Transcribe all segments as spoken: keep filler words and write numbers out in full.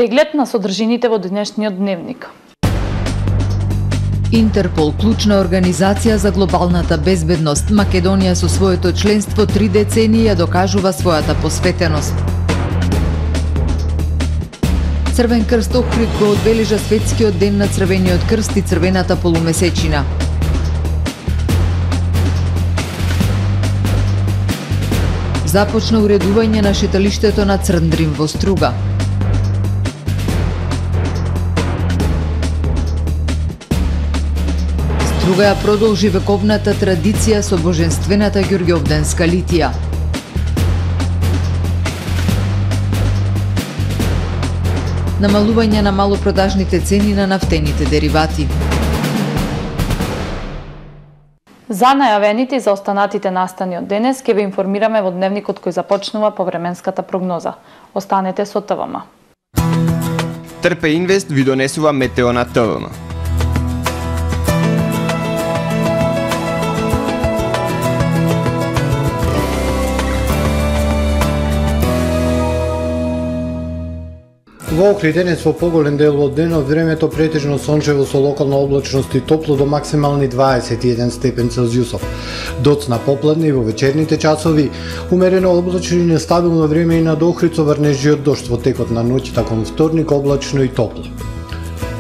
Преглед на содржините во денешниот дневник. Интерпол, клучна организација за глобалната безбедност, Македонија со своето членство три децении ја докажува својата посветеност. Црвен крст Охрид го одбележа светскиот ден на Црвениот крст и црвената полумесечина. Започна уредување на шеталиштето на Црндрим во Струга. Струга ја продолжи вековната традиција со боженствената Ѓурѓовденска литија. Намалување на малопродажните цени на нафтените деривати. За најавените и за останатите настани од денес ќе ве информираме во дневникот кој започнува по временската прогноза. Останете со Т В М. Трпе Инвест ви донесува метео на Т В М. Во Охрид денес во поголем дел од денот времето претежно сончево со локална облачност и топло до максимални дваесет и еден степен Целзиусов. Доцна попладне и во вечерните часови, умерено облачно и нестабилно време и над Охрид со врнежи од дожд во текот на ноќта кон вторник, облачно и топло.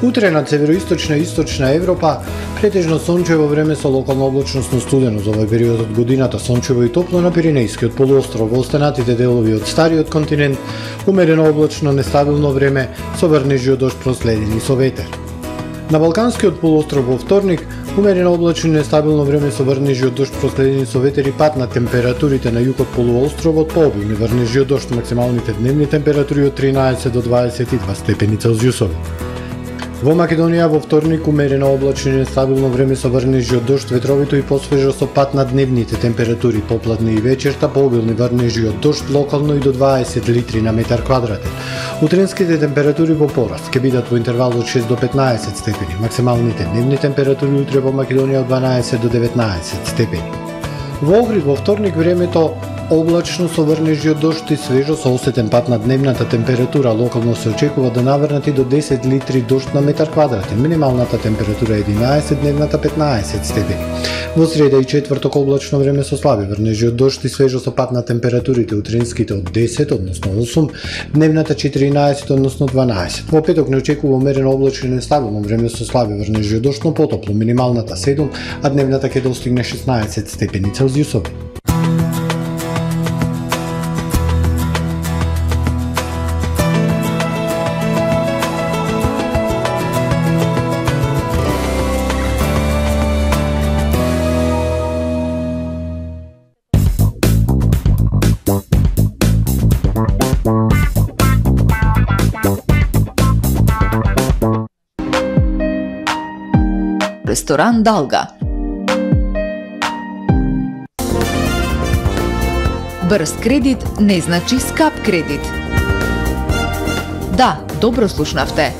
Утре на североисточна и источна Европа претежно сончево време со локална облачност, но студено за овој период од годината, сончево и топло на Пиренејскиот полуостров, во останатите делови од стариот континент умерено облачно нестабилно време со врнежи од дожд проследени со ветер. На Балканскиот полуостров во вторник умерено облачно и нестабилно време со врнежи од дожд проследени со ветер и пад на температурите на југот полуостровот, пообилни врнежи од дожд, максималните дневни температури од тринаесет до дваесет и два степени Целзиусови. Во Македонија во вторник умерено облачно и нестабилно време со врнежи од дожд, ветровито и посвежо со пад на дневните температури, попладне и вечерта, пообилни врнежи од дожд, локално и до дваесет литри на метар квадратен. Утренските температури во пораст ќе бидат во интервал од шест до петнаесет степени, максималните дневни температури утре во Македонија од дванаесет до деветнаесет степени. Во Охрид во вторник времето облачно со врнежи од дожд и свежо со осетен пад на дневната температура, локално се очекува да наврнат и до десет литри дожд на метар квадратен, минималната температура единаесет, дневната петнаесет степени. Во среда и четврток облачно време со слаби врнежи од дожд и свежо со пад на температурите, утренските од десет, односно осум, дневната четиринаесет, односно дванаесет. Во петок не очекува умерено облачно и нестабилно време со слаби врнежи од дожд, но потопло, минималната седум, а дневната ќе достигне шеснаесет степени Целзиусови. Ресторан Далга. Брз кредит не значи скап кредит. Да, добро слушнавте.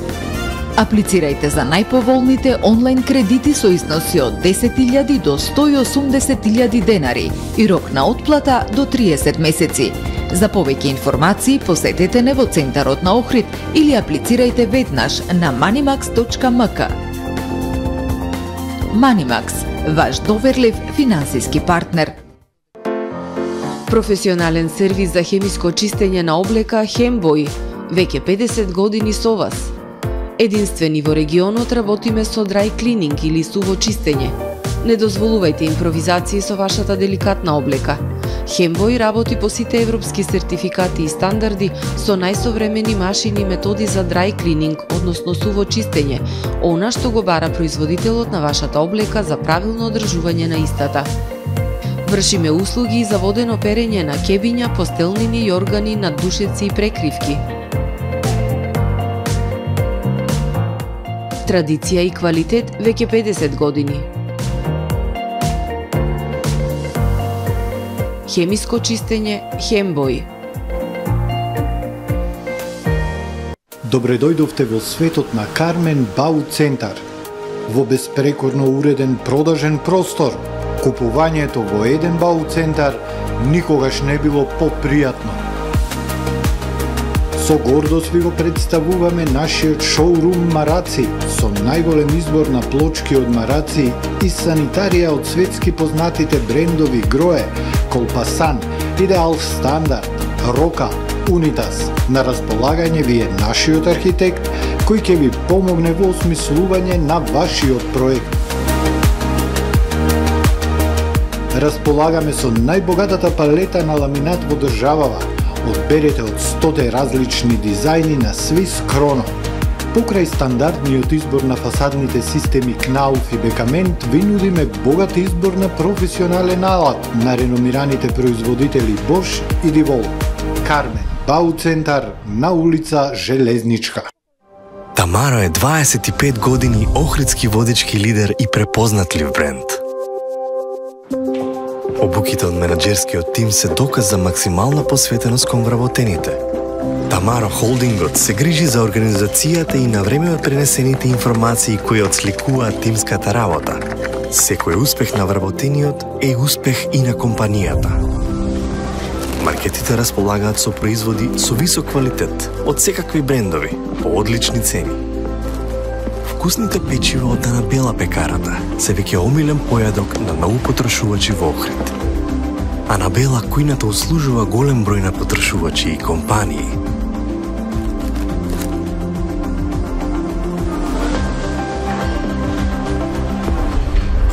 Аплицирајте за најповолните онлайн кредити со износи од десет илјади до сто и осумдесет илјади денари и рок на отплата до триесет месеци. За повеќе информации посетете не во центарот на Охрид или аплицирајте веднаш на manimax точка ем ка. Манимакс, ваш доверлив финансиски партнер. Професионален сервис за хемиско чистење на облека Хембој, веќе педесет години со вас. Единствени во регионот работиме со dry cleaning или суво чистење. Не дозволувајте импровизации со вашата деликатна облека. Хембој работи по сите европски сертификати и стандарди со најсовремени машини и методи за dry cleaning, односно суво чистење, она што го бара производителот на вашата облека за правилно одржување на истата. Вршиме услуги за водено перење на кебиња, постелнини и органи, наддушеци и прекривки. Традиција и квалитет веќе педесет години. Хемиско чистење Хембој. Добре дојдовте во светот на Кармен Бау Центар. Во беспрекорно уреден продажен простор, купувањето во еден Бау Центар никогаш не било попријатно. Со Со гордост ви го представуваме нашиот шоурум Мараци, со најголем избор на плочки од Мараци и санитарија од светски познатите брендови Грое, Колпасан, Идеал Стандард, Рока, Унитас. На располагање ви е нашиот архитект, кој ќе ви помогне во осмислување на вашиот проект. Располагаме со најбогатата палета на ламинат во државава. Одберете од сто различни дизајни на Swiss Chrono. Покрај стандардниот избор на фасадните системи Knauf и Бекамент, ви нудиме богат избор на професионален алат на реномираните производители Bosch и Divol. Кармен Бау центар на улица Железничка. Тамаро е дваесет и пет години охридски водички лидер и препознатлив бренд. Обуките од менаџерскиот тим се доказ за максимална посветеност кон вработените. Тамаро Холдингот се грижи за организацијата и на време од пренесените информации кои отсликуваат тимската работа. Секој успех на вработениот е успех и на компанијата. Маркетите располагаат со производи со висок квалитет од секакви брендови по одлични цени. Вкусните печива од Анабела пекарата се веќе омилен појадок на многу потрошувачи во Охрид. Анабела кујната услужува голем број на потрошувачи и компании.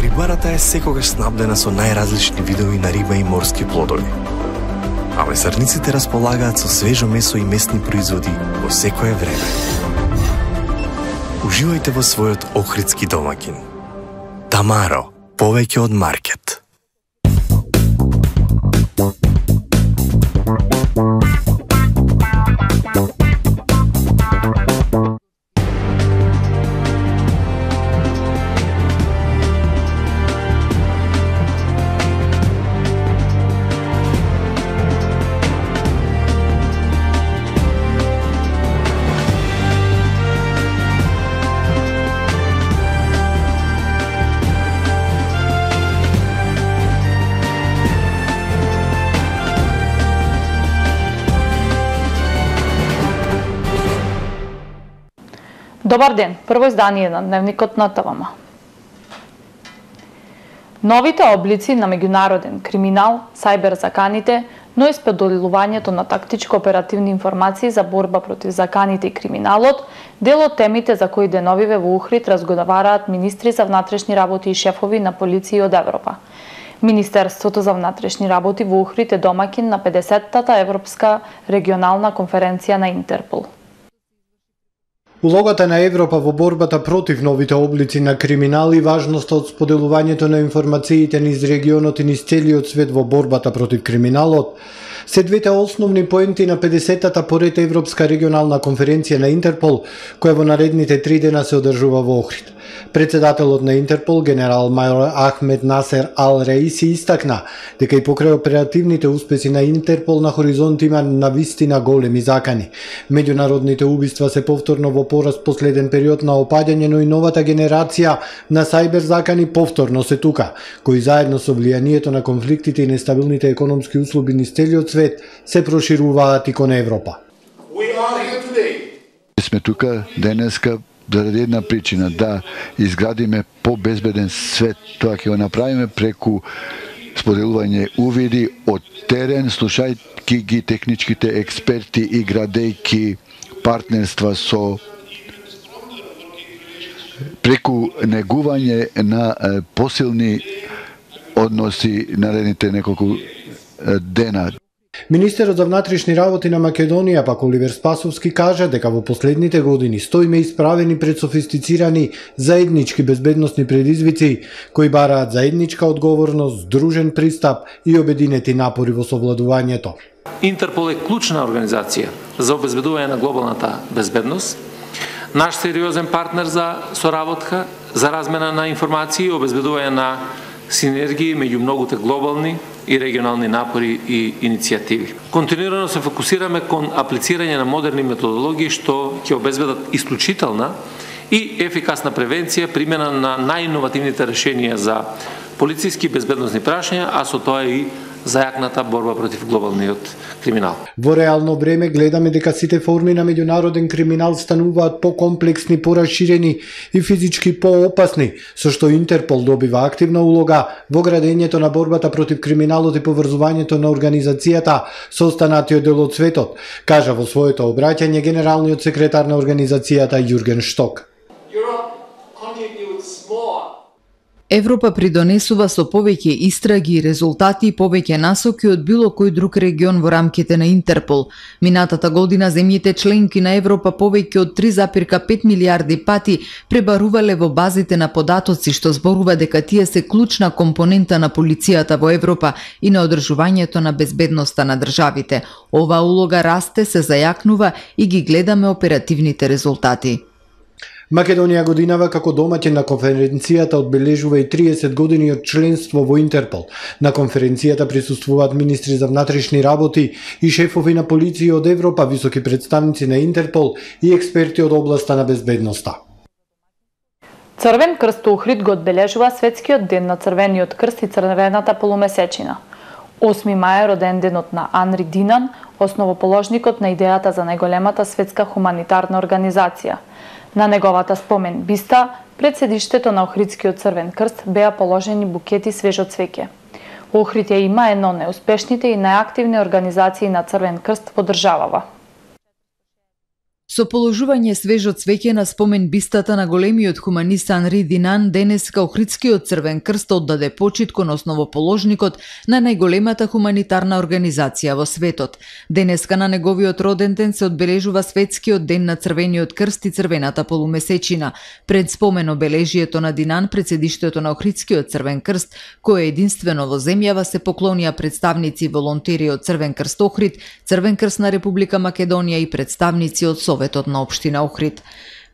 Рибарата е секогаш снабдена со најразлични видови на риба и морски плодови. А месарниците располагаат со свежо месо и месни производи во секое време. Уживајте во својот охридски домакин. Тамаро, повеќе од маркет. Добар ден, прво издание на Дневникот на ТВМ. Новите облици на меѓународен криминал, сајбер заканите, но и споделувањето на тактичко-оперативни информации за борба против заканите и криминалот, дел од темите за кои деновиве во Охрид разговараат министри за внатрешни работи и шефови на полиции од Европа. Министерството за внатрешни работи во Охрид е домакин на педесеттата Европска регионална конференција на Интерпол. Улогата на Европа во борбата против новите облици на криминал и важноста од споделувањето на информациите низ регионот и низ целиот свет во борбата против криминалот се двете основни поенти на педесеттата поред Европска регионална конференција на Интерпол, која во наредните три дена се одржува во Охрид. Председателот на Интерпол, генерал мајор Ахмед Насер Ал Раиси, истакна дека и покрај оперативните успеси на Интерпол на хоризонт има навистина големи закани. Меѓународните убиства се повторно во пораст последен период на опаѓање, но и новата генерација на сајбер закани повторно се тука, кои заедно со влијанието на конфликтите и нестабилните економски услови низ целиот свет се прошируваат и кон Европа. Сме тука денеска заради една причина, да изградиме побезбеден свет. Тоа ќе го направиме преку споделување увиди од терен, слушајќи ги техничките експерти и градејќи партнерства со преку негување на посилни односи наредните неколку дена. Министерот за внатрешни работи на Македонија, пак Оливер Спасовски, кажа дека во последните години стоиме исправени пред софистицирани заеднички безбедносни предизвици, кои бараат заедничка одговорност, здружен пристап и обединети напори во совладувањето. Интерпол е клучна организација за обезбедување на глобалната безбедност, наш сериозен партнер за соработка, за размена на информации и обезбедување на синергии меѓу многуте глобални и регионални напори и иницијативи. Континуирано се фокусираме кон аплицирање на модерни методологии што ќе обезбедат исклучителна и ефикасна превенција, примена на најиновативните решенија за полициски безбедносни прашања, а со тоа и зајакната борба против глобалниот криминал. Во реално време гледаме дека сите форми на меѓународен криминал стануваат покомплексни, пораширени и физички поопасни, со што Интерпол добива активна улога во градењето на борбата против криминалот и поврзувањето на организацијата со останатиот дел од светот, кажа во своето обраќање генералниот секретар на организацијата Јурген Шток. Европа придонесува со повеќе истраги и резултати и повеќе насоки од било кој друг регион во рамките на Интерпол. Минатата година земјите членки на Европа повеќе од три запирка пет милиарди пати пребарувале во базите на податоци, што зборува дека тие се клучна компонента на полицијата во Европа и на одржувањето на безбедноста на државите. Оваа улога расте, се зајакнува и ги гледаме оперативните резултати. Македонија годинава како домаќин на конференцијата одбележува и триесет години од членство во Интерпол. На конференцијата присуствуваат министри за внатрешни работи и шефови на полиција од Европа, високи представници на Интерпол и експерти од областа на безбедноста. Црвен крст Охрид го одбележува Светскиот ден на Црвениот крст и Црвената полумесечина. осми мај е роден денот на Анри Динан, основоположникот на идејата за најголемата светска хуманитарна организација. На неговата спомен биста, пред седиштето на Охридскиот Црвен крст беа положени букети свежо цвеќе. Охрид ја има едно од најуспешните и најактивни организации на Црвен крст во државава. Со положување свежо цвеќе на спомен бистата на големиот хуманист Анри Динан, денеска Охридскиот Црвен крст оддаде почит кон основоположникот на најголемата хуманитарна организација во светот. Денеска на неговиот роден ден се одбележува Светскиот ден на Црвениот крст и Црвената полумесечина. Пред спомен обележието на Динан пред седиштето на Охридскиот Црвен крст, кое единствено во земјава, се поклонија представници и волонтери од Црвен крст Охрид, Црвен крст на Република Македонија и представници од Советот на општина Охрид.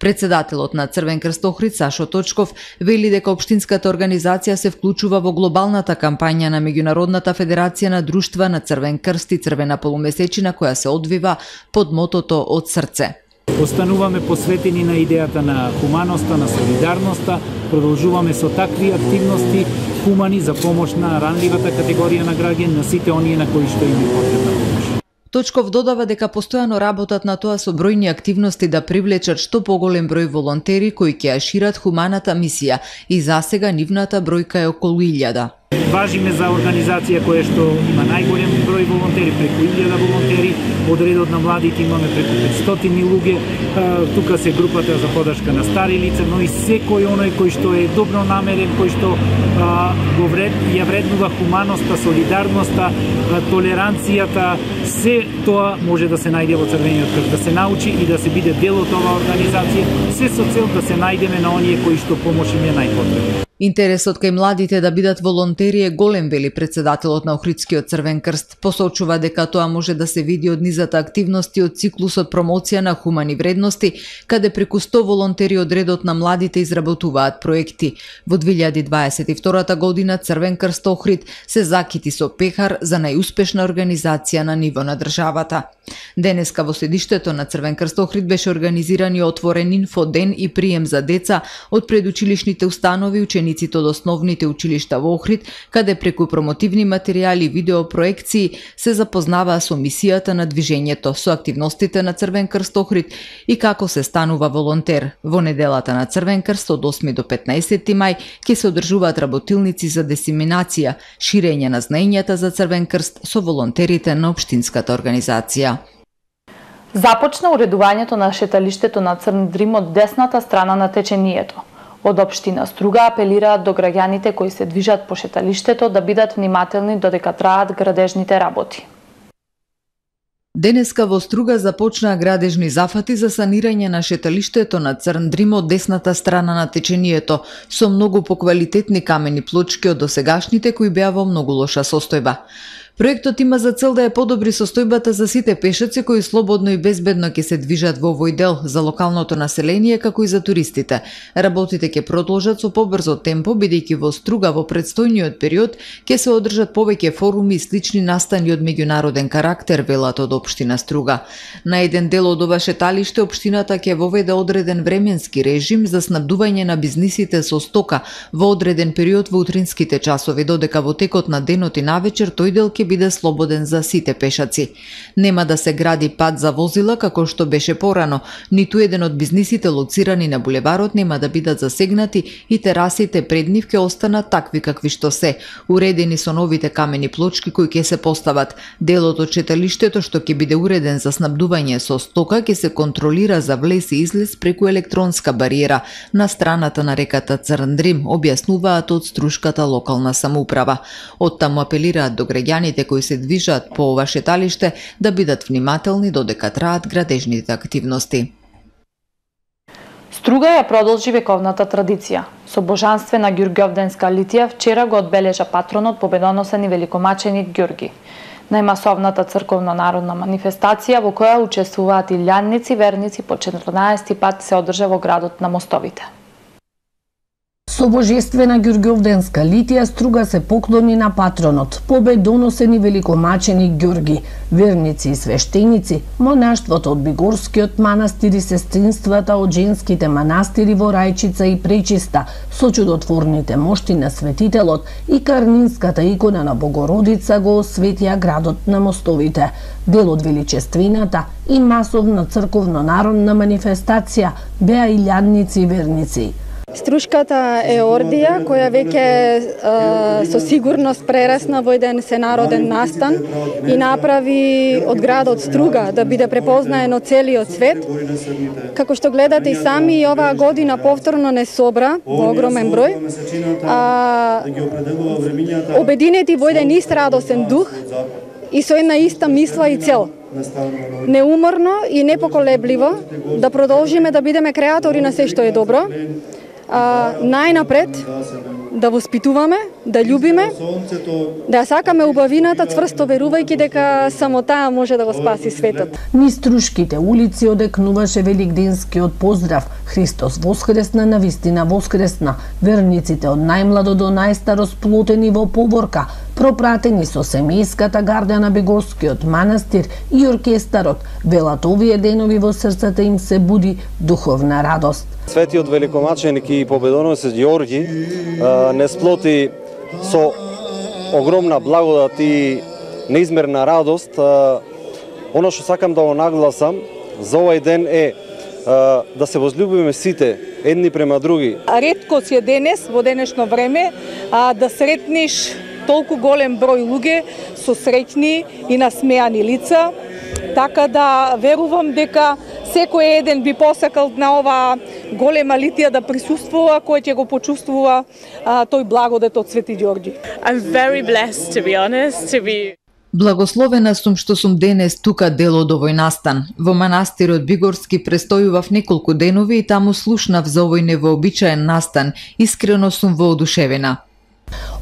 Председателот на Црвен крст Охрид, Сашо Точков, вели дека општинската организација се вклучува во глобалната кампања на Меѓународната федерација на друштва на Црвен крст и Црвена полумесечина, која се одвива под мотото од срце. Остануваме посветени на идејата на хуманоста, на солидарноста, продолжуваме со такви активности хумани за помош на ранливата категорија на граѓани, на сите оние на кои што им е потребна помош. Точков додава дека постојано работат на тоа со бројни активности да привлечат што поголем број волонтери кои ќе ја шират хуманата мисија и засега нивната бројка е околу илјада. Важиме за организација која што има најголем број волонтери, преку илјада волонтери, од редот на младите имаме преку петстотини луѓе, тука се групата за подршка на стари лица, но и секој оној кој што е добро намерен, кој што а, го вред, ја вреднува хуманоста, солидарноста, а, толеранцијата, се тоа може да се најде во Црвениот крст, да се научи и да се биде дел од оваа организација, се со цел да се најдеме на оние кои што помош им е најпотребна. Интересот кај младите да бидат волонтери е голем, вели председателот на Охридскиот Црвен крст. Посочува дека тоа може да се види од низата активности од циклусот промоција на хумани вредности, каде преку сто волонтери од редот на младите изработуваат проекти. Во две илјади дваесет и втора година Црвен крст Охрид се закити со пехар за најуспешна организација на ниво на државата. Денеска во седиштето на Црвен крст Охрид беше организиран и отворен инфоден и прием за деца од предучилишните установи, учениците од основните училишта во Охрид, каде преку промотивни материјали и видеопроекции се запознаваа со мисијата на движењето, со активностите на Црвен крст Охрид и како се станува волонтер. Во неделата на Црвен крст од осми до петнаесети мај ќе се одржуваат работилници за дисеминација, ширење на знаењата за Црвен крст со волонтерите на општинската организација. Започна уредувањето на шеталиштето на Црн Дрим од десната страна на течението. Од општина Струга апелираат до граѓаните кои се движат по шеталиштето да бидат внимателни додека траат градежните работи. Денеска во Струга започнаа градежни зафати за санирање на шеталиштето на Црн Дрим од десната страна на течението, со многу поквалитетни камени плочки од досегашните кои беа во многу лоша состојба. Проектот има за цел да ја подобри состојбата за сите пешаци кои слободно и безбедно ќе се движат во овој дел, за локалното население како и за туристите. Работите ќе продолжат со побрзо темпо, бидејќи во Струга во предстојниот период ќе се одржат повеќе форуми и слични настани од меѓународен карактер, велат од општина Струга. На еден дел од ова шеталиште општината ќе воведе одреден временски режим за снабдување на бизнисите со стока во одреден период во утринските часови, додека во текот на денот и навечер тој дел ќе ќе биде слободен за сите пешаци. Нема да се гради пат за возила како што беше порано, ниту еден од бизнисите лоцирани на булеварот нема да бидат засегнати и терасите пред нив ќе останат такви какви што се, уредени со новите камени плочки кои ќе се постават. Делот од читалиштето што ќе биде уреден за снабдување со стока ќе се контролира за влез и излез преку електронска бариера на страната на реката Црндрим, објаснуваат од Струшката локална самоуправа. Оттаму апелираат до граѓаните кои се движат по ова шеталиште да бидат внимателни додека траат градежните активности. Струга ја продолжи вековната традиција. Со божанствена ѓурѓовденска литија вчера го одбележа патронот победоносен и великомаченик Ѓурги. Најмасовната црковно-народна манифестација во која учествуваат илјадници верници по четрнаесети пат се одржа во градот на Мостовите. Со божествена ѓурѓовденска литија Струга се поклони на патронот, победоносен и великомаченик Ѓурги, верници и свештеници, монаштвото од Бигорскиот манастир и сестринствата од женските манастири во Рајчица и Пречиста, со чудотворните мошти на светителот и карнинската икона на Богородица го осветија градот на Мостовите. Дел од величествената и масовна црковно-народна манифестација беа илјадници верници. Струшката е ордија која веќе е, со сигурност прерасна во еден сенароден настан и направи од градот Струга да биде препознаен од целиот свет. Како што гледате и сами, и оваа година повторно не собра во огромен број, а, обединети во еден ист радосен дух и со една иста мисла и цел. Неуморно и непоколебливо да продолжиме да бидеме креатори на се што е добро, а, најнапред да воспитуваме, да љубиме, да ја сакаме убавината, цврсто верувајќи дека само таа може да го спаси светот. Низ Струшките улици одекнуваше великденскиот поздрав Христос воскресна, навистина воскресна. Верниците од најмладо до најстаро сплотени во поборка, пропратени со семејската гарда на Бегорскиот манастир и оркестарот, велат овие денови во срцата им се буди духовна радост. Светиот великомаченик и победоносец Ѓорги не сплоти со огромна благодат и неизмерна радост. Оно што сакам да го нагласам за овој ден е да се возлюбиме сите едни према други. Ретко си е денес, во денешно време, да сретнеш толку голем број луѓе со среќни и насмеани лица, така да верувам дека секој еден би посакал на ова голема литија да присуствува, кој ќе го почувствува а, тој благодет од Свети Ѓорги. I'm very blessed, to be honest, to be... Благословена сум што сум денес тука дел од овој настан. Во манастирот Бигорски престојував неколку денови и таму слушнав за овој невообичаен настан. Искрено сум воодушевена.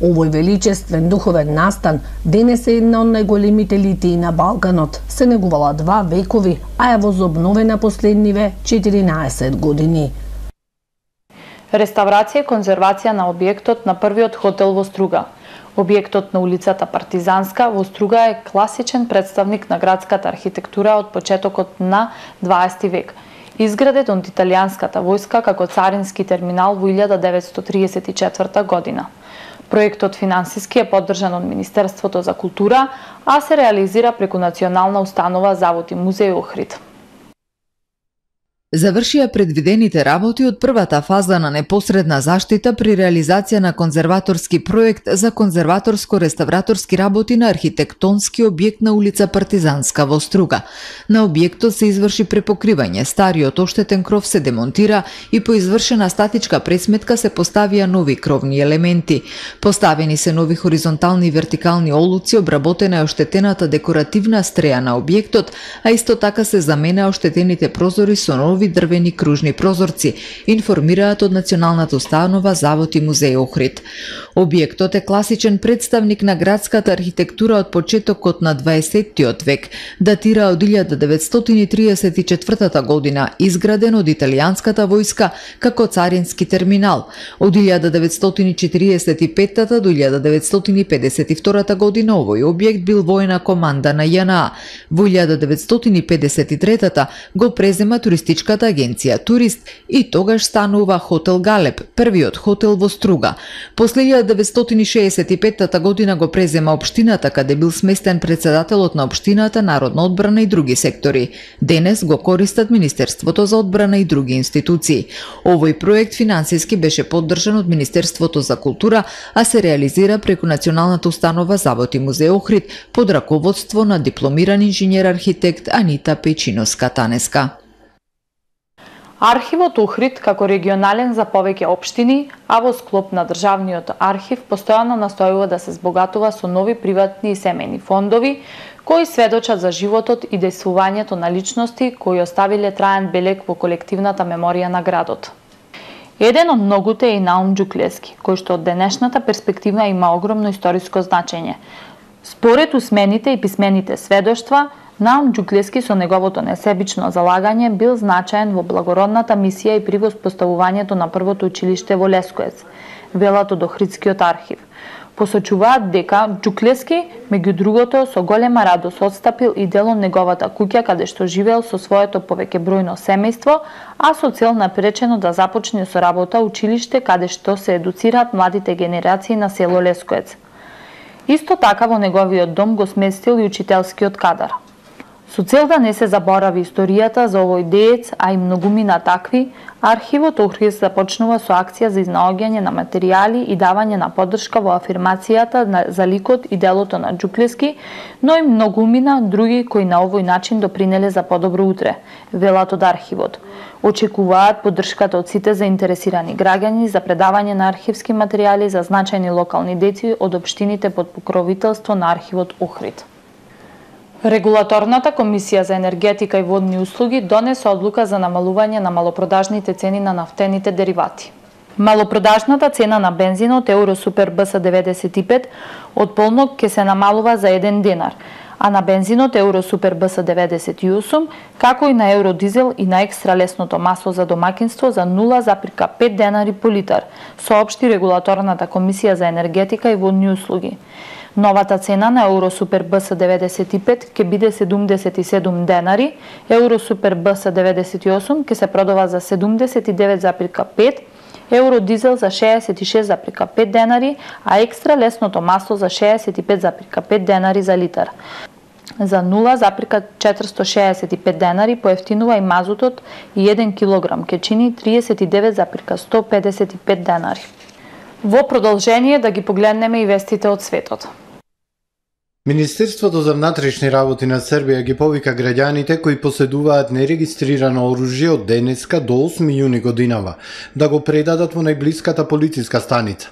Овој величествен духовен настан денес е една од најголемите литии на Балканот. Се негувала два векови, а е возобновена последниве четиринаесет години. Реставрација и конзервација на објектот на првиот хотел во Струга. Објектот на улицата Партизанска во Струга е класичен представник на градската архитектура од почетокот на дваесети век. Изграден од италијанската војска како царински терминал во илјада деветстотини триесет и четврта година. Проектот финансиски е поддржан од Министерството за култура, а се реализира преку Национална установа Завод и музеј Охрид. Завршија предвидените работи од првата фаза на непосредна заштита при реализација на конзерваторски проект за конзерваторско-реставраторски работи на архитектонски објект на улица Партизанска во Струга. На објектот се изврши препокривање, стариот оштетен кров се демонтира и по извршена статичка пресметка се поставија нови кровни елементи. Поставени се нови хоризонтални и вертикални олуци, обработена е оштетената декоративна стреја на објектот, а исто така се замена оштетените прозори со нови дрвени кружни прозорци, информираат од Националната установа Завод и музеј Охрид. Објектот е класичен представник на градската архитектура од почетокот на дваесеттиот век, датира од илјада деветстотини триесет и четвртата година, изграден од италијанската војска како царински терминал. Од илјада деветстотини четириесет и петта до илјада деветстотини педесет и втората година овој објект бил воена команда на Ја Н А. Во илјада деветстотини педесет и третата го презема туристичка туристичката агенција Турист и тогаш станува Хотел Галеб, првиот хотел во Струга. После илјада деветстотини шеесет и петта година го презема општината, каде бил сместен председателот на општината, Народна одбрана и други сектори. Денес го користат Министерството за одбрана и други институции. Овој проект финансиски беше поддржан од Министерството за култура, а се реализира преку Националната установа Завод и музеј Охрид под раководство на дипломиран инженер-архитект Анита Печиновска-Танеска. Архивот Охрид како регионален за повеќе општини, а во склоп на државниот архив постојано настојува да се збогатува со нови приватни и семејни фондови кои сведочат за животот и дејствувањето на личности кои оставиле траен белег во колективната меморија на градот. Еден од многуте е и Наум Џуклевски, кој што од денешната перспектива има огромно историско значење. Според усмените и писмените сведоштва, Наум Џуклевски со неговото несебично залагање бил значаен во благородната мисија и при воспоставувањето на првото училиште во Лескоец, велат од Охридскиот архив. Посочуваат дека Џуклевски, меѓу другото, со голема радост отстапил и дел од неговата куќа каде што живеел со своето повеќебројно семејство, а со цел напречено да започне со работа училиште каде што се едуцираат младите генерации на село Лескоец. Исто така во неговиот дом го сместил и учителскиот кадар. Со цел да не се заборави историјата за овој деец, а и многумина такви, архивот Охрид започнува со акција за изнаоѓање на материјали и давање на поддршка во афирмацијата за ликот и делото на Џуклевски, но и многумина други кои на овој начин допринеле за подобро утре, велат од архивот. Очекуваат поддршката од сите заинтересирани граѓани за предавање на архивски материјали за значајни локални деци од општините под покровителство на архивот Охрид. Регулаторната комисија за енергетика и водни услуги донесе одлука за намалување на малопродажните цени на нафтените деривати. Малопродажната цена на бензинот Евро Супер Б С деветдесет и пет од полнок ќе се намалува за еден денар, а на бензинот Евро Супер Б С деветдесет и осум, како и на Евро Дизел и на екстра лесното масло за домаќинство за нула запирка пет денари по литар, соопшти Регулаторната комисија за енергетика и водни услуги. Новата цена на Евро Супер Б С деветдесет и пет ќе биде седумдесет и седум денари, Евро Супер Б С деветдесет и осум ќе се продава за седумдесет и девет запирка пет, Евро Дизел за шеесет и шест запирка пет денари, а екстра лесното масло за шеесет и пет запирка пет денари за литар. За нула запирка четиристо шеесет и пет денари поевтинува и мазутот и еден килограм ќе чини триесет и девет запирка сто педесет и пет денари. Во продолжение да ги погледнеме и вестите од светот. Министерството за внатрешни работи на Србија ги повика граѓаните кои поседуваат нерегистрирано оружје од денеска до осми јуни годинава да го предадат во најблиската полициска станица.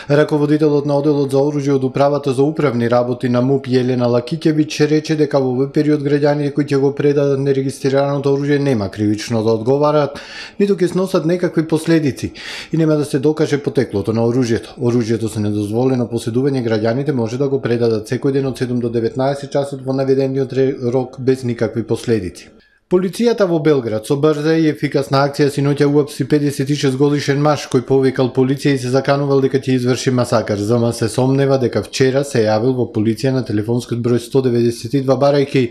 Раководителот на оделот за оружје од управата за управни работи на МУП Јелена Лакиќевиќ рече дека во овој период граѓаните кои ќе го предадат нерегистрираното оружје нема кривично да одговарат, ниту ќе сносат некакви последици и нема да се докаже потеклото на оружјето. Оружјето со недозволено поседување граѓаните може да го предадат секој ден од седум до деветнаесет часот во наведениот рок без никакви последици. Полицијата во Белград со брза и ефикасна акција синоќа уапси педесет и шест годишен маж кој повикал полиција и се заканувал дека ќе изврши масакар. ЗМ се сомнева дека вчера се јавил во полиција на телефонскиот број сто деветдесет и два барајќи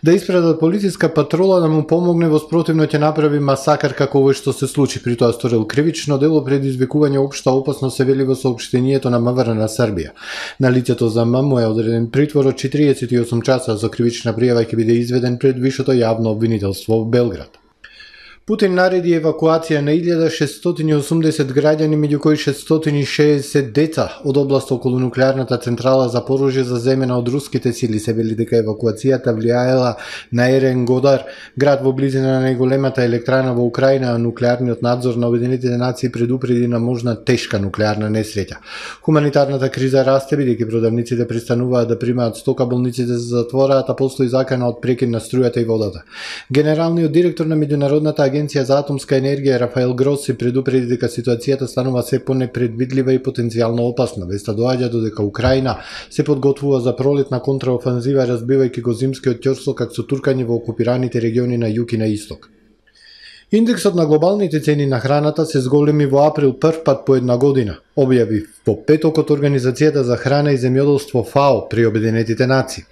да испратат полициска патрола да му помогне, во спротивно ќе направи масакар како овој што се случи. При тоа сторил кривично дело предизвикување општа опасност, се вели во соопштението на МВР на Србија. На лицето ЗМ му е одреден притвор од четириесет и осум часа, со кривична пријава ќе биде изведен пред вишето јавно обвинителство во Белград. Путин нареди евакуација на илјада шестстотини и осумдесет граѓани, меѓу кои шестстотини и шеесет деца од област околу нуклеарната централа Запорожје заземена од руските сили. Се вели дека евакуацијата влијаела на Ерен-Годар, град во близина на најголемата електрана во Украина, а нуклеарниот надзор на Обединетите нации предупреди на можна тешка нуклеарна несреќа. Хуманитарната криза расте бидејќи продавниците престануваат да примаат стока, болниците се затвораат, а постои закана од прекин на струјата и водата. Генералниот директор на меѓународната Агенција за атомска енергија Рафаел Гроси предупреди дека ситуацијата станува се понепредвидлива и потенцијално опасна. Веста доаѓа додека Украина се подготвува за пролетна контраофанзива, разбивајќи го зимскиот ќорсокак со туркање во окупираните региони на југ и на исток. Индексот на глобалните цени на храната се зголеми во април прв пат по една година. објави во петок од Организацијата за храна и земјоделство ФАО при Обединетите нации.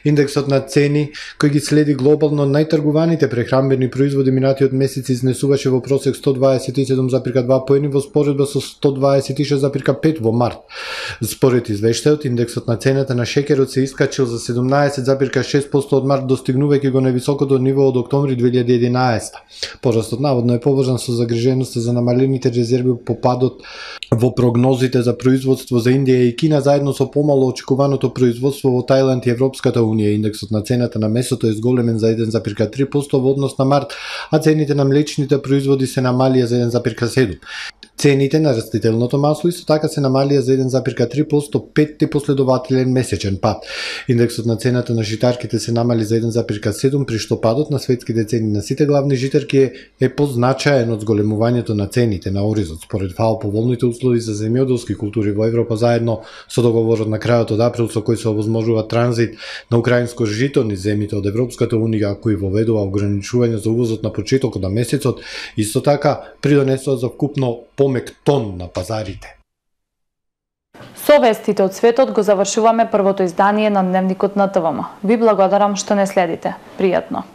Индексот на цени кој ги следи глобално најтргуваните прехранбени производи минатиот месец изнесуваше во просек сто дваесет и седум зарем два поени во споредба со сто дваесет и шест зарем пет во март. Според извештајот, индексот на цената на шеќерот се искачил за седумнаесет зарем шест проценти од март, достигнувајќи го највисокото ниво од октомври две илјади и единаесетта. Порастот наводно е поврзан со загриженоста за намалените резерви по падот во прогнозите за производство за Индија и Кина, заедно со помало очекуваното производство во Тајланд и Европската унија. Индексот на цената на месото е зголемен за еден зарем три проценти во однос на март, а цените на млечните производи се намалија за еден зарем седум проценти. Цените на растителното масло исто така се намалија за еден зарем три проценти, петти последователен месечен пад. Индексот на цената на житарките се намали за еден зарем седум проценти, при што падот на светските цени на сите главни житарки е, е позначаен од зголемувањето на цените на оризот. Според ФАО, поволните услови за земјоделски култури во Европа, заедно со договорот на крајот од април со кој се овозможува транзит на украинско жито низ земјите од Европската унија, кој воведува ограничување за увозот на почетокот на месецот, исто така придонесува за вкупно помек тон на пазарите. Со вестите од светот го завршуваме првото издание на Дневникот на ТВМ. Ви благодарам што не следите. Пријатно.